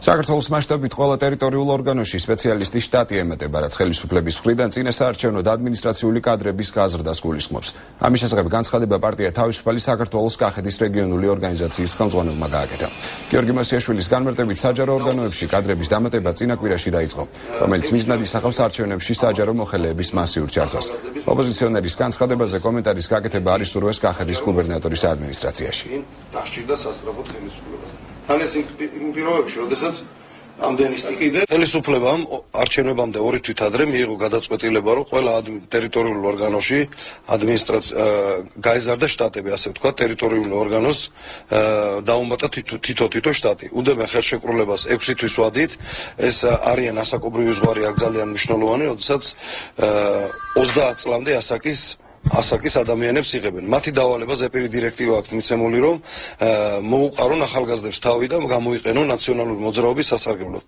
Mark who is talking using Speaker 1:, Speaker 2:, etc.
Speaker 1: საქართველოს მასშტაბით ყველა ტერიტორიულ ორგანოში სპეციალისტის შტატი ემატება, რაც ხელისუფლების მხრიდან წინასაარჩევნო და ადმინისტრაციული კადრების გაზრდას გულისხმობს. ამის შესახებ განცხადება პარტია თავისუფალი საქართველოს კახეთის რეგიონული ორგანიზაციის ხელმძღვანელმა გააკეთა. გიორგი მოსიაშვილის განმარტებით საჯარო ორგანოებში კადრების დამატება წინა კვირაში დაიწყო, რომელიც მიზნად ისახავს არჩევნებში საჯარო მოხელეების მასიურ ჩართვას. ოპოზიციონერის განცხადებაზე კომენტარის გაკეთება არ ისურვეს კახეთის გუბერნატორის ადმინისტრაციაში.
Speaker 2: დასჭირდა სასწრაფო ხელისუფლებას. თან ეს იმ პირობებში, როდესაც ამდენი სტიკიდე ხელისუფლებამ არჩევნებამდე 2 თვით ადრე მიიღო გადაწყვეტილება, რომ ყველა ტერიტორიულ ორგანოში გაეზარდა შტატები, ასე ვთქვათ, ტერიტორიული ორგანოს დაუმატა თითო შტატი. უდევენ ხელშეკრულებას 6 თვის ვადით, ეს არიან ასაკობრივი ზღვარი აქ ძალიან მნიშვნელოვანი, როდესაც 30 წლამდე ასაკის ადამიანებს იღებენ. მათი დავალება ზეპირი დირექტივა აქვს მიცემული, რომ მოუყარონ ახალგაზრდებს თავი და გამოიყენონ ნაციონალური მოძრაობის სასარგებლოდ.